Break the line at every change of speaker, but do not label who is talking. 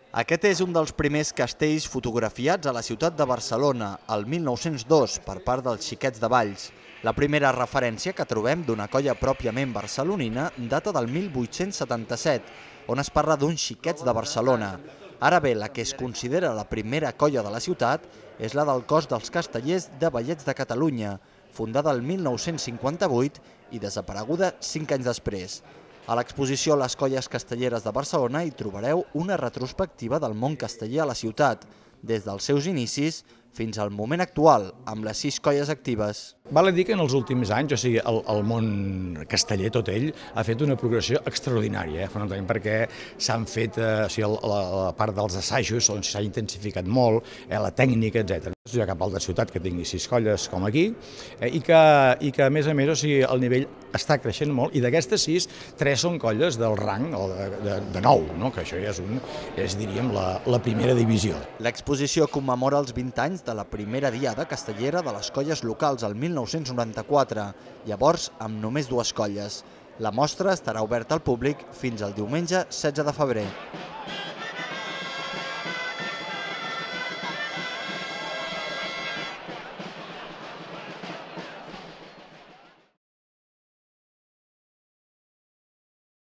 Aquest és un dels primers castells fotografiats a la ciutat de Barcelona, el 1902, per part dels Xiquets de Valls. La primera referència que trobem d'una colla pròpiament barcelonina data del 1877, on es parla d'uns Xiquets de Barcelona. Ara bé, la que es considera la primera colla de la ciutat és la del Cos dels Castellers de Ballets de Catalunya, fundada el 1958 i desapareguda 5 anys després. A l'exposició Les Colles Castelleres de Barcelona hi trobareu una retrospectiva del món casteller a la ciutat, des dels seus inicis fins al moment actual, amb les 6 colles actives.
Val a dir que en els últims anys, o sigui, el món casteller, tot ell, ha fet una progressió extraordinària, fonamentalment perquè s'han fet, la part dels assajos, on s'ha intensificat molt, la tècnica, etc. No hi ha cap altra ciutat que tingui 6 colles com aquí, i que a més, o sigui, el nivell està creixent molt, i d'aquestes 6, 3 són colles del rang de 9, no? Que això ja és, diríem, la primera divisió.
L'exposició commemora els 20 anys de la primera diada castellera de les colles locals el 1994, llavors amb només 2 colles. La mostra estarà oberta al públic fins al diumenge 16 de febrer.